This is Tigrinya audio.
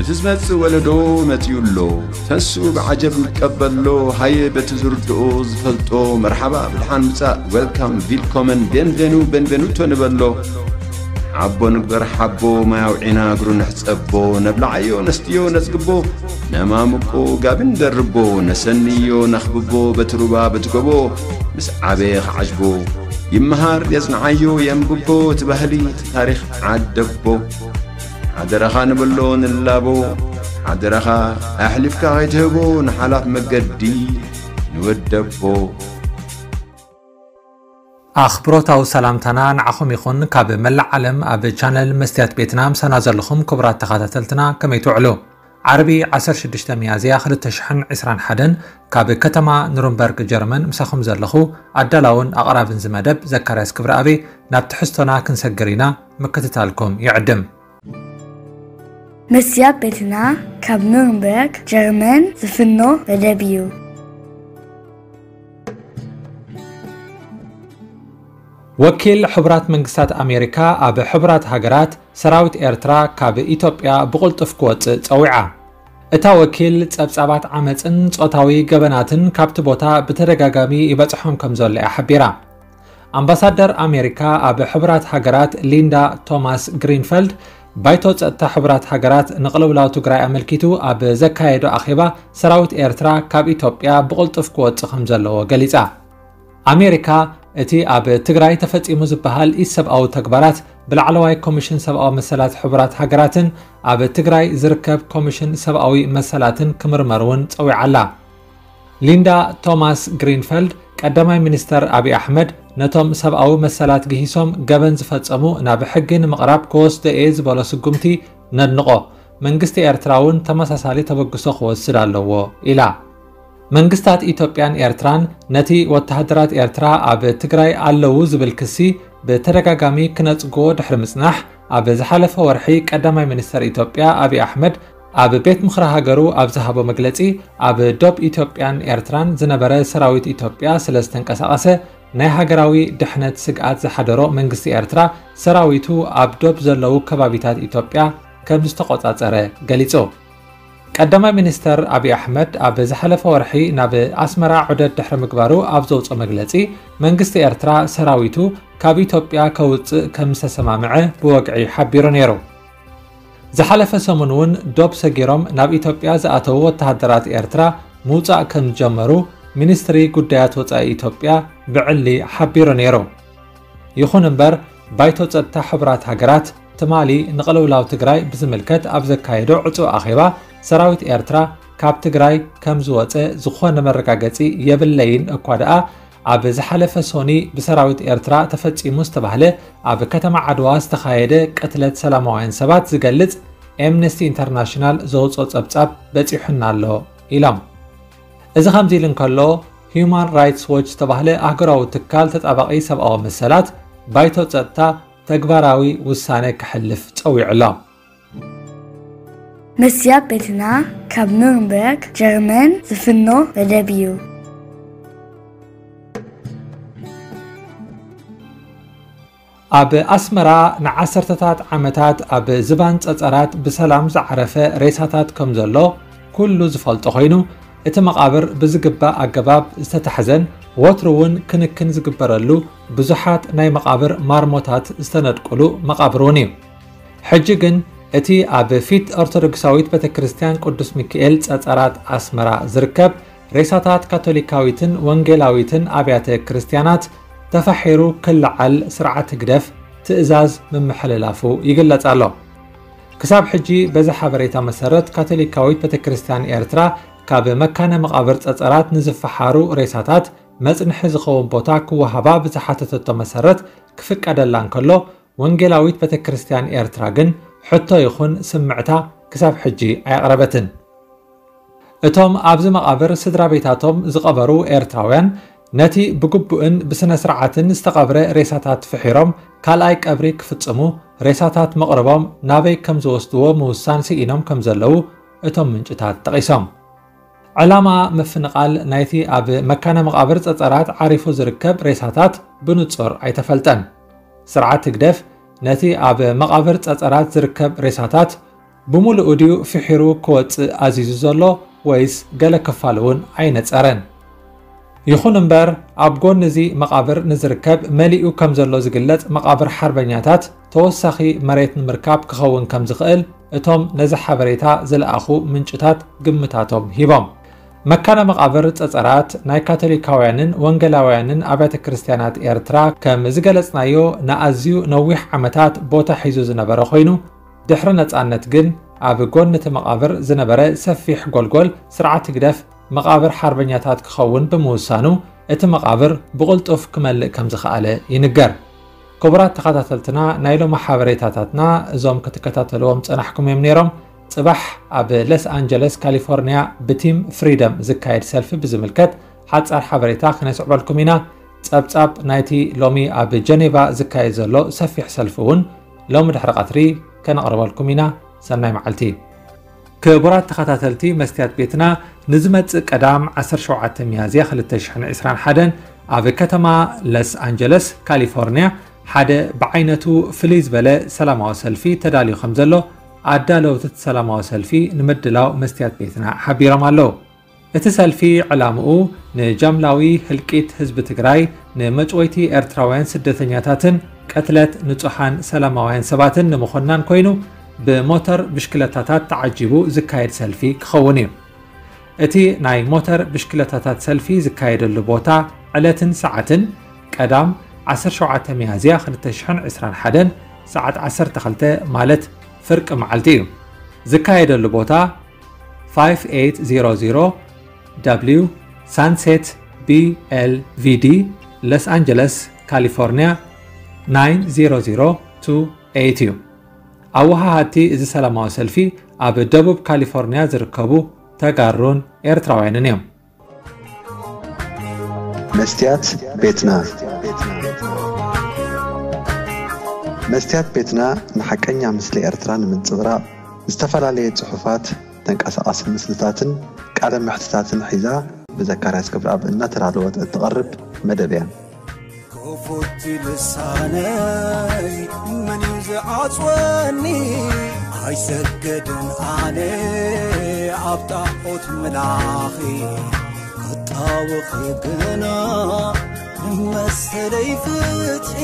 እቲ ዝመጽእ ወለዶ መጺኡ ኣሎ። ተንስኡ ብዓጀብ ንቀበሎ። ሃየ በቲ ዝርድኦ ዝፈልጦ መርሓባ ብድሓን ምጻእ፣ ዌልካም፣ ቪልኮመን፣ ቤንቬኑ፣ ቤንቬኑቶ ንበሎ። ሓቦ ንግበር ሓቦ፣ ማይ ኣውዒና እግሩ ንሕጸቦ። ነብልዓዮ ነስትዮ ነጽግቦ፣ ነማምቆ ጋቢ ንደርቦ። ነሰንዮ ነኽብቦ በቲ ሩባ በቲ ጎቦ። ምስ ዓበየ ክዓጅቦ ይመሃር የጽንዓዮ የንብቦ። እቲ ባህሊ እቲ ታሪኽ ዓደቦ። ሓደራኻ ንብሎ ንላቦ። ሓደራኻ ኣሕሊፍካ ከይትህቦ ንሓላፍ መገዲ ንወደቦ። ኣኽብሮታዊ ሰላምታና ንዓኹም ይኹን። ካብ መላእ ዓለም ኣብ ቻነል መስትያት ቤትና ምሳና ዘለኹም ክቡራት ተኸታተልትና ከመይ ትውዕሉ? ዓርቢ ዓሰርተ ሽዱሽተ ሚያዝያ ክልተ ሽሕን ዕስራን ሓደን ካብ ከተማ ኑርንበርግ ጀርመን ምሳኹም ዘለኹ ኣዳላውን ኣቕራብን እዚ መደብ ዘካርያስ ክብረኣብ። ናብ ትሕዝቶና ክንሰግር ኢና፣ ምክትታልኩም ይዕድም። መስትያት ቤትና ካብ ኑርንበርግ ጀርመን ዝፍኖ መደብ እዩ። ወኪል ሕቡራት መንግስታት ኣሜሪካ ኣብ ሕቡራት ሃገራት ሰራዊት ኤርትራ ካብ ኢትዮጵያ ብቕልጡፍ ክወጽእ ጸዊዓ። እታ ወኪል ጸብጻባት ዓመጽን ጾታዊ ገበናትን ካብቲ ቦታ ብተደጋጋሚ ይበጽሖም ከም ዘሎ እያ ሓቢራ። ኣምባሳደር ኣሜሪካ ኣብ ሕቡራት ሃገራት ሊንዳ ቶማስ ግሪንፈልድ ባይቶ ጸጥታ ሕቡራት ሃገራት ንቕልውላው ትግራይ ኣመልኪቱ ኣብ ዘካየዶ ኣኼባ ሰራዊት ኤርትራ ካብ ኢትዮጵያ ብቕልጡፍ ክወጽእ ከም ዘለዎ ገሊጻ። ኣሜሪካ እቲ ኣብ ትግራይ ተፈጺሙ ዝበሃል ኢሰብኣዊ ተግባራት ብላዕለዋይ ኮሚሽን ሰብኣዊ መሰላት ሕቡራት ሃገራትን ኣብ ትግራይ ዝርከብ ኮሚሽን ሰብኣዊ መሰላትን ክምርመር እውን ጸዊዓ ኣላ። ሊንዳ ቶማስ ግሪንፈልድ ቀዳማይ ሚኒስተር ኣብይ ኣሕመድ ነቶም ሰብኣዊ መሰላት ግሂሶም ገበን ዝፈጸሙ ናብ ሕጊ ንምቕራብ ክወስዶ እየ ዝበሎ ስጉምቲ ነድንቖ። መንግስቲ ኤርትራ እውን ተመሳሳሊ ተበግሶ ክወስድ ኣለዎ ኢላ። መንግስታት ኢትዮጵያን ኤርትራን ነቲ ወተሃደራት ኤርትራ ኣብ ትግራይ ኣለዉ ዝብል ክሲ ብተደጋጋሚ ክነጽግዎ ድሕሪ ምጽናሕ፣ ኣብ ዝሓለፈ ወርሒ ቀዳማይ ሚኒስተር ኢትዮጵያ ኣብይ ኣሕመድ ኣብ ቤት ምኽሪ ሃገሩ ኣብ ዝሃቦ መግለጺ፣ ኣብ ዶብ ኢትዮጵያን ኤርትራን ዝነበረ ሰራዊት ኢትዮጵያ ስለ ዝተንቀሳቐሰ ናይ ሃገራዊ ድሕነት ስግኣት ዝሓደሮ መንግስቲ ኤርትራ ሰራዊቱ ኣብ ዶብ ዘለዉ ከባቢታት ኢትዮጵያ ከም ዝተቖጻጸረ ገሊጹ። ቀዳማይ ሚኒስተር ኣብይ ኣሕመድ ኣብ ዝሓለፈ ወርሒ ናብ ኣስመራ ዑደት ድሕሪ ምግባሩ ኣብ ዘውፅኦ መግለጺ፣ መንግስቲ ኤርትራ ሰራዊቱ ካብ ኢትዮጵያ ከውፅእ ከም ዝተሰማምዐ ብወግዒ ሓቢሩ ነይሩ። ዝሓለፈ ሰሙን እውን ዶብ ሰጊሮም ናብ ኢትዮጵያ ዝኣተዉ ወተሃደራት ኤርትራ ምውጻእ ከም ዝጀመሩ ሚኒስትሪ ጉዳያት ወጻኢ ኢትዮጵያ ብዕሊ ሓቢሩ ነይሩ። ይኹን እምበር፣ ባይቶ ጸጥታ ሕቡራት ሃገራት ትማሊ ንቕልውላው ትግራይ ብዝምልከት ኣብ ዘካየዶ ዕጹው ኣኼባ፣ ሰራዊት ኤርትራ ካብ ትግራይ ከም ዝወጸ ዝኾነ መረጋገጺ የብለይን እኳ ደኣ፣ ኣብ ዝሓለፈ ሶኒ ብሰራዊት ኤርትራ ተፈጺሙ ዝተባህለ ኣብ ከተማ ዓድዋ ዝተኻየደ ቅትለት ሰላማውያን ሰባት ዝገልጽ ኤምነስቲ ኢንተርናሽናል ዘውጽኦ ጸብጻብ በጺሑና ኣሎ ኢሎም። እዚ ከምዚ ኢሉ እንከሎ፣ ሂዩማን ራይትስ ዎች ዝተባህለ ኣህጉራዊ ትካል ተጣባቒ ሰብኣዊ መሰላት፣ ባይቶ ጸጥታ ተግባራዊ ውሳነ ከሕልፍ ጸዊዑ ኣሎ። መስትያት ቤትና ካብ ኑርንበርግ ጀርመን ዝፍኖ መደብ እዩ። ኣብ ኣስመራ ንዓሰርተታት ዓመታት ኣብ ዝባን ጸጸራት ብሰላም ዝዓረፈ ሬሳታት ከም ዘሎ ኩሉ ዝፈልጦ ኮይኑ፣ እቲ መቓብር ብዝግባእ ኣገባብ ዝተታሕዘን ወትሩ እውን ክንክን ዝግበረሉ ብዙሓት ናይ መቓብር ማርሞታት ዝተነድቁሉ መቓብር እውን እዩ። ሕጂ ግን እቲ ኣብ ፊት ኦርቶዶክሳዊት ቤተ ክርስቲያን ቅዱስ ሚካኤል ጸጸራት ኣስመራ ዝርከብ ሬሳታት ካቶሊካዊትን ወንጌላዊትን ኣብያተ ክርስቲያናት ተፋሒሩ ክለዓል ስርዓት ህግደፍ ትእዛዝ ምምሕልላፉ ይግለጽ ኣሎ። ክሳብ ሕጂ በዚ ሓበሬታ መሰረት ካቶሊካዊት ቤተ ክርስቲያን ኤርትራ ካብ መካነ መቓብር ጸጸራት ንዝፈሓሩ ሬሳታት መጽንሒ ዝኸውን ቦታ ክወሃባ ብዝሓተተቶ መሰረት ክፍቀደላ እንከሎ፣ ወንጌላዊት ቤተ ክርስቲያን ኤርትራ ግን ሕቶ ይኹን ስምዕታ ክሳብ ሕጂ ኣየቕረበትን። እቶም ኣብዚ መቓብር ስድራ ቤታቶም ዝቐበሩ ኤርትራውያን ነቲ ብግቡእን ብስነ ስርዓትን ዝተቐብረ ሬሳታት ፍሒሮም ካልኣይ ቀብሪ ክፍጽሙ ሬሳታት መቕርቦም ናበይ ከም ዝወስድዎ ምውሳን ስኢኖም ከም ዘለዉ እቶም ምንጭታት ጠቒሶም። ዕላማ ምፍንቓል ናይቲ ኣብ መካነ መቓብር ጸጸራት ዓሪፉ ዝርከብ ሬሳታት ብንጹር ኣይተፈልጠን። ስርዓት ህግደፍ ነቲ ኣብ መቓብር ጸጸራት ዝርከብ ሬሳታት ብምሉኡ ድዩ ፍሒሩ ክወጽእ ኣዚዙ ዘሎ ወይስ ገለ ክፋል እውን ኣይነጸረን? ይኹን እምበር፣ ኣብ ጎኒ እዚ መቓብር ንዝርከብ መሊኡ ከም ዘሎ ዝግለጽ መቓብር ሓርበኛታት ተወሳኺ መሬት ንምርካብ ክኸውን ከም ዝኽእል እቶም ነዚ ሓበሬታ ዝለኣኹ ምንጭታት ግምታቶም ሂቦም። መካነ መቓብር ጸጸራት ናይ ካቶሊካውያንን ወንጌላውያንን ኣብያተ ክርስቲያናት ኤርትራ፣ ከም ዝገለጽናዮ፣ ንኣዝዩ ነዊሕ ዓመታት ቦታ ሒዙ ዝነበረ ኮይኑ፣ ድሕሪ ነጻነት ግን ኣብ ጎኒ እቲ መቓብር ዝነበረ ሰፊሕ ጎልጎል ስርዓት ህግደፍ መቓብር ሓርበኛታት ክኸውን ብምውሳኑ፣ እቲ መቓብር ብቕልጡፍ ክመልእ ከም ዝኸኣለ ይንገር። ክቡራት ተኸታተልትና፣ ናይ ሎሚ ሓበሬታታትና እዞም ክትከታተልዎም ጸናሕኩም እዮም ነይሮም። ጽባሕ ኣብ ሎስ ኣንጀለስ ካሊፎርኒያ ብቲም ፍሪደም ዝካየድ ሰልፊ ብዝምልከት ሓጻር ሓበሬታ ክነስዕበልኩም ኢና። ጸብጻብ ናይቲ ሎሚ ኣብ ጀኔቫ ዝካየድ ዘሎ ሰፊሕ ሰልፊ እውን ሎሚ ድሕሪ ቀትሪ ከነቕርበልኩም ኢና። ሰናይ መዓልቲ። ክቡራት ተኸታተልቲ መስትያት ቤትና፣ ንዝመጽእ ቀዳም ዓሰርተ ሸውዓተ ሚያዝያ ክልተ ሽሕን ዕስራን ሓደን ኣብ ከተማ ሎስ ኣንጀለስ ካሊፎርኒያ ሓደ ብዓይነቱ ፍልይ ዝበለ ሰላማዊ ሰልፊ ተዳልዩ ከም ዘሎ ኣዳለውቲ እቲ ሰላማዊ ሰልፊ ንምድላው መስትያት ቤትና ሓቢሮም ኣለዉ። እቲ ሰልፊ ዕላምኡ ንጃምላዊ ህልቂት ህዝቢ ትግራይ፣ ንመጭወይቲ ኤርትራውያን ስደተኛታትን ቅትለት ንጹሓን ሰላማውያን ሰባትን ንምኹናን ኮይኑ፣ ብሞተር ብሽክለታታት ተዓጂቡ ዝካየድ ሰልፊ ክኸውን እዩ። እቲ ናይ ሞተር ብሽክለታታት ሰልፊ ዝካየደሉ ቦታ፣ ዕለትን ሰዓትን፣ ቀዳም ዓሰርተ ሸውዓተ ሚያዝያ ክልተ ሽሕን ዕስራን ሓደን ሰዓት ዓሰርተ ክልተ ማለት ፍርቂ መዓልቲ እዩ። ዝካየደሉ ቦታ፣ ፋይቭ ኤይት ዜሮ ዜሮ ደብሊው ሳንሴት ቢ ኤል ቪ ዲ፣ ሎስ ኣንጀለስ ካሊፎርኒያ ናይን ዜሮ ዜሮ ቱ ኤይት እዩ። ኣወሃሃድቲ እዚ ሰላማዊ ሰልፊ ኣብ ደቡብ ካሊፎርኒያ ዝርከቡ ተጋሩን ኤርትራውያንን እዮም። መስትያት ቤትና። መስትያት ቤትና ንሓቀኛ ምስሊ ኤርትራ ንምንጽብራቕ፣ ዝተፈላለየ ጽሑፋት፣ ተንቀሳቓሲ ምስልታትን ቃለ መሕትታትን ሒዛ ብዘካርያስ ገብረኣብ እናተዳለወት እትቐርብ መደብ እያ። ክፉት ልሳነይ መን እዩ ዝዓጽወኒ? ኣይሰገድን ኣነ ኣብ ጣዖት ምላኺ፣ ክጣወኺ ግና መሰለይ ፍትሒ።